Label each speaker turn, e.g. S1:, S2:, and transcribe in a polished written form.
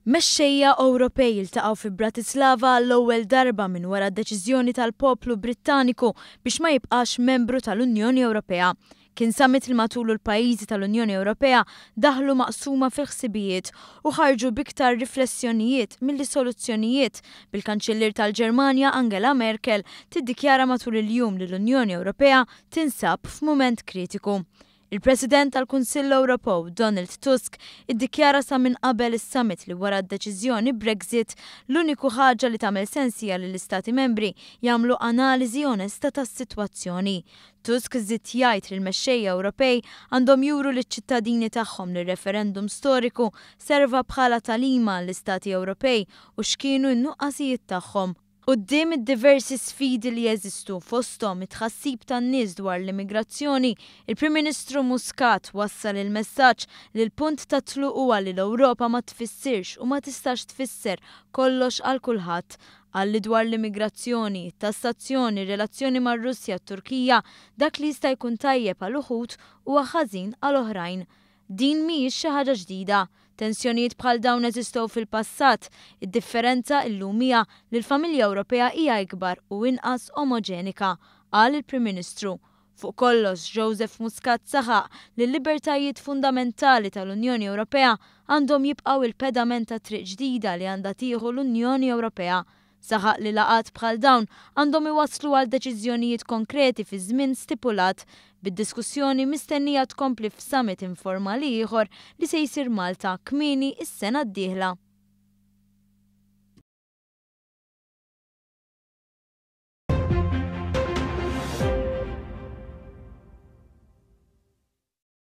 S1: Mexxejja Ewropej iltaqgħu fi Bratislava għall-ewwel darba minn wara d-deċiżjoni tal-poplu Brittaniku biex ma jibqax membru tal-Unjoni Ewropea. Kien summit li matulu l-pajjiżi tal-Unjoni Ewropea daħlu maqsuma fil-ħsibijiet u ħarġu b'iktar riflessjonijiet milli soluzzjonijiet, bil-Kanċillier tal-Ġermanja Angela Merkel tiddikjara matul il-jum li l-Unjoni Ewropea tinsab f'mument kritiku. Il-President tal-Kunsill Ewropew, Donald Tusk, iddikjara sa minn qabel is-summit li wara d-deċiżjoni Brexit, l-uniku ħaġa li tagħmel sens hija li l-Istati Membri jagħmlu analiżi onesta tas-sitwazzjoni. Tusk żied jgħid li l-mexxejja Ewropej għandhom juru liċ-ċittadini tagħhom li r-referendum storiku serva bħala tagħlima għall-Istati Ewropej u x'kienu n-nuqqasijiet tagħhom. Quddiem id-diversi sfidi li jeżistu, fosthom it-tħassib tan-nies dwar l-immigrazzjoni, il-Prim Ministru Muscat wassal il-messaġġ li l-punt tat-tluq huwa li l-Ewropa ma tfissirx u ma tistax tfisser kollox għal kulħadd. Qal li dwar l-immigrazzjoni, it-tassazzjoni, ir-relazzjoni mar-Russja, t-Turkija, dak li jista' jkun tajjeb għal uħud huwa ħażin għal oħrajn. Din mhijiex xi ħaġa ġdida. Tensjonijiet bħal dawn eżistew fil-passat. Id-differenza illum hija li l-familja Ewropea hija ikbar u inqas omoġenika, qal il-Prim Ministru. Fuq kollox, Joseph Muscat saħaq li l-libertajiet fundamentali tal-Unjoni Ewropea għandhom jibqgħu il-pedament ta' triq ġdida li għandha tieħu l-Unjoni Ewropea. Saħaq li laqgħat bħal dawn għandhom iwasslu għal deċiżjonijiet konkreti fi żmien stipulat, bid-diskussjoni mistennija tkompli f'summit informali ieħor li se jsir Malta kmieni s-sena d-dieħla.